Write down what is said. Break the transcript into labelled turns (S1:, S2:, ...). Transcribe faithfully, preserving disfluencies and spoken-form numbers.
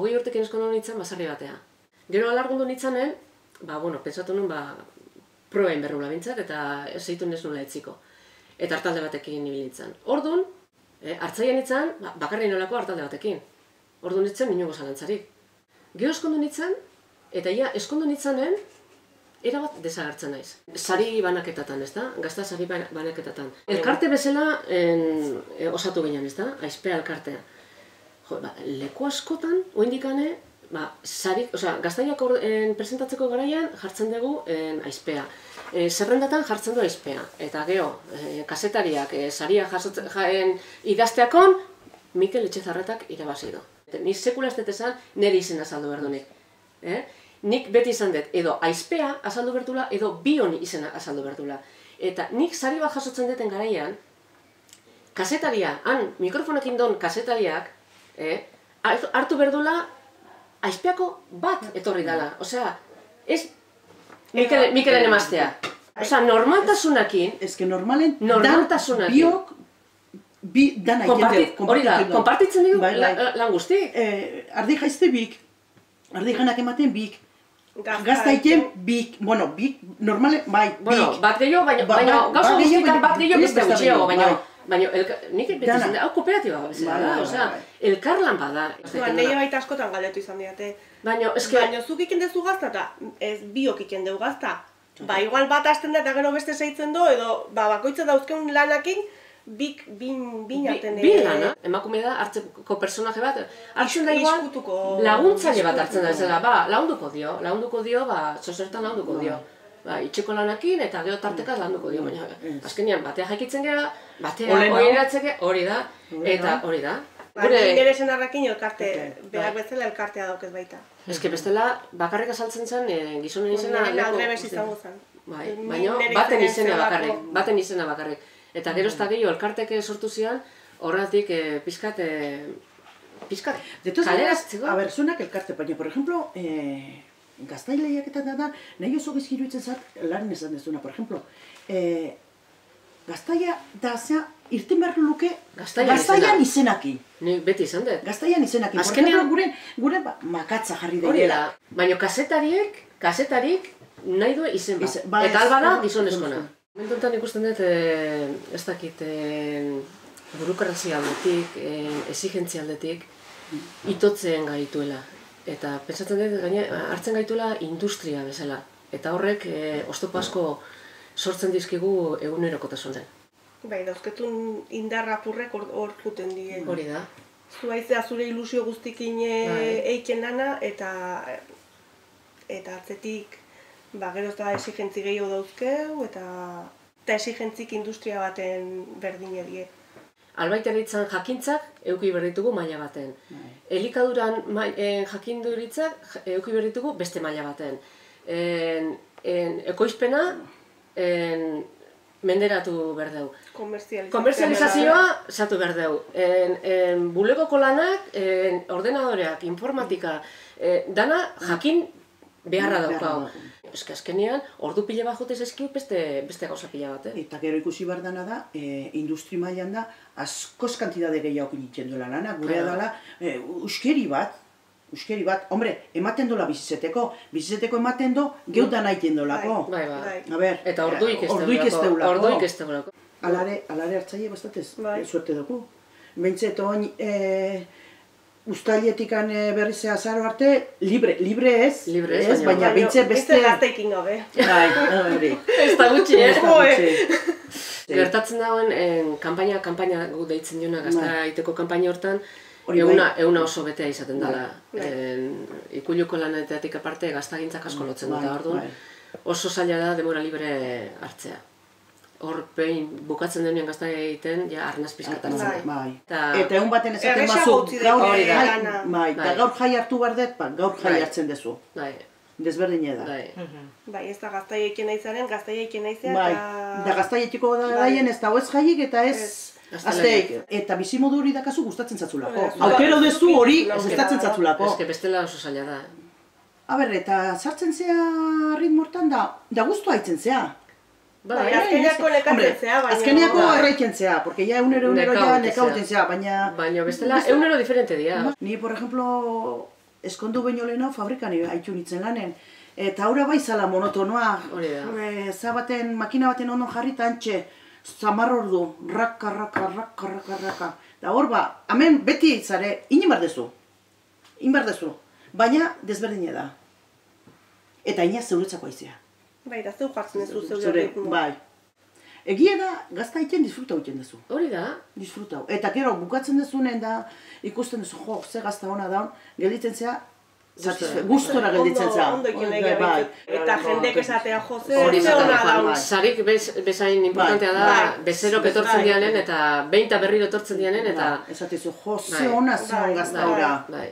S1: hogei urtekin eskondu nintzen basarri batea. Gero alargundu nintzanen, ba, bueno, pentsatu nun, ba, probain berrula bintzat, eta zeitu ez nula etziko. Eta hartalde batekin nibil nintzen. Orduan, e, hartzaian nintzen, ba, bakarri nolako hartalde batekin. Orduan nintzen, inongo zalantzarik. Gero eskondu nintzen, eta ia, eskondu nintzanen, erabat desagertzen naiz. Sari banaketatan, ez da? Gazta sari banaketatan. Elkarte bezala en, e, osatu ginen, ez da? Aizpea elkartea. Jo, ba, leku askotan, oindikane, ba, sarik, osea, gaztaiak presentatzeko garaian jartzen dugu en, aizpea. E, zerrendatan jartzen du aizpea. Eta geho, e, kasetariak e, saria jasotzen jaen idazteakon, Mikel Etxezarretak irabazi du. Ni sekula ez dut esan, nire izena azaldu behar dunik. Eh? Nik beti izan dut, edo aizpea azaldu bertula, edo bion izena azaldu bertula. Eta nik sari bat jasotzen duten garaian, kasetaria, han mikrofonekin don kasetariak, eh, hartu berdula, aizpeako bat etorri dela. Osea, ez Mikelen emaztea. Osea, normaltasunakin,
S2: Ez que normalen,
S1: normaltasunakin.
S2: biok, bi dana ikende.
S1: Hori da, konpartitzen dugu lan guztik.
S2: Ardi jaizte bik, ardi janak ematen bik, gazta iken bik, bueno, bik, normale, bai, bik.
S1: Bueno, bat gehiago, baina gauza guztitan bat gehiago beste gutxiago, baina Baina, nik beti izan da, hau kooperatiba bezala da, osea, elkarlan bada.
S3: Neio baita askotan galdetu izan diate.
S1: Baina, eske...
S3: Baina, zuk iken dezu gazta eta ez biok iken deu gazta. Ba, igual bat hasten da eta gero beste zeitzen do, edo, ba, bakoitza dauzkeun lanakin, bik, bin, bin aten...
S1: Bin lana, emakume da, hartzeko personaje bat, hartzen da igual, laguntzaile bat hartzen da, zela, ba, lagunduko dio, lagunduko dio, ba, zosertan lagunduko dio. Ba, itxeko lanakin eta gero tartekaz landuko dio, baina azkenean batea jaikitzen gara, batea oiratzeke, hori da, eta hori da.
S3: Baina ingerezen harrakin elkarte, behar bezala elkartea daukez baita.
S1: Ez que bestela bakarrik azaltzen zen gizonen izena...
S3: Aldrebes izango zen.
S1: Baina baten izena bakarrik, baten izena bakarrik. Eta gero ez da gehiago elkarteke sortu zian, horretik pizkat, pizkat, kaleratzeko.
S2: A ber, zuenak elkarte, baina, por ejemplo, gaztaileak eta da, nahi oso gizkiru itzen zat, laren esan dezuna, por ejemplo, gaztaia da, zea, irten behar luke gaztaian izenaki.
S1: Ni beti izan dut.
S2: Gaztaian izenaki. Por ejemplo, gure makatza jarri dela.
S1: Hori da, baina kasetariek, kasetarik nahi du izen bat. Eta alba da gizonezkoena. Momentuntan ikusten dut, ez dakit, burukrazia aldetik, exigentzia aldetik, itotzen gaituela. Eta pentsatzen dut, hartzen gaituela industria bezala. Eta horrek oztopo asko sortzen dizkigu egunerokotasunen.
S3: Bai, dauzketun indarra apurrek hor juten dien.
S1: Hori da.
S3: Zu haizea zure ilusio guztikin eiken lana, eta eta atzetik gero ez da exigentzi gehiago dauzkeu, eta exigentzik industria baten berdin edie.
S1: Albaitaritzan jakintzak euki berditugu maila baten. Elikaduran jakinduritzak euki berditugu beste maila baten. Ekoizpena menderatu berdeu. Komerzializazioa zatu berdeu. Bulegoko lanak, ordenadoreak, informatika, dana jakin beharra daukau. Ez que azkenean, ordu pila bat jotez ezkiu beste gauza pila bat.
S2: Eta gero ikusi behar dana da, industri mailan da, askoz kantidade gehiago nitzen duela lana, gurea dela, uskeri bat, uskeri bat, hombre, ematen dola bizizeteko, bizizeteko ematen do, geudan aiten dolako.
S1: Bai, bai.
S2: A ber,
S1: eta orduik ez
S2: deulako.
S1: Orduik ez deulako.
S2: Alare, alare hartzaile bastatez, suerte dugu. Bentset, oin, Uztailetikan berriz azaro arte, libre, libre ez, baina bintze beste...
S3: Ez da gaztaikin gabe.
S2: Bai, hori.
S1: Ez da gutxi, eh? Gertatzen dagoen, kanpaina, kanpaina gu deitzen diona, gazta iteko kanpaina hortan, euna oso betea izaten dela. Ikuluko lanetatik aparte, gaztagintzak asko lotzen dut, orduan oso zaila da demora libre hartzea. Hor, behin, bukatzen denean gazta egiten, ja, arnaz pizkat hartzen.
S2: Eta egun baten esaten bazu, gaur jai hartu behar dut, gaur jai hartzen dezu. Desberdine da.
S3: Bai, ez da gaztaiekin naizaren, gaztaiekin naizea,
S2: eta... Da gaztaietiko daien ez da ez jaiik eta ez... Azteik, eta bizimodu hori dakazu gustatzen zatzulako. Aukero dezu hori gustatzen zatzulako.
S1: Ez que bestela oso zaila da.
S2: A ber, eta sartzen zea ritmortan da, da guztu haitzen zea.
S3: Azkeneako nekatzen zea, baina...
S2: Azkeneako erraiken zea, porque ya eunero eunero ya nekauten zea, baina...
S1: Baina bestela eunero diferente dira.
S2: Ni, por ejemplo, eskondu baino lehenago fabrikan haitu nintzen lanen. Eta aurra bai zala monotonoa,
S1: Hori da.
S2: e, zabaten, makina baten ondo jarrita antxe, zamar ordu, raka, raka, raka, raka, raka. Da hor ba, hemen beti zare, inin bardezu, inin bardezu, baina desberdine da. Eta ina zeuretzako aizea.
S3: Bai, da zeu jartzen ez du zeu
S2: Zure,
S3: ritmoa.
S2: bai. Egia da, gazta egiten disfruta egiten duzu.
S1: Hori da.
S2: Disfruta. Eta gero, bukatzen dezunen da, ikusten duzu, jo, ze gazta hona da, gelditzen zea, satisfe- gustora gelditzen
S3: Ondo,
S2: zea.
S3: ondo ekin
S2: Bai,
S3: egia
S2: bai.
S3: behintzat. Eta jendek esatea jose,
S1: Hori
S3: ze
S1: da.
S3: ona daun.
S2: bai.
S1: Sarik bez, bezain importantea da,
S3: Bai.
S1: bezerok etortzen
S2: Bai.
S1: dianen, eta behin eta berriro etortzen dianen, eta...
S2: Ba, esatezu, jo, ze
S1: Bai.
S2: ona zion
S3: Bai,
S2: gazta
S3: bai.
S2: ora.
S1: Bai.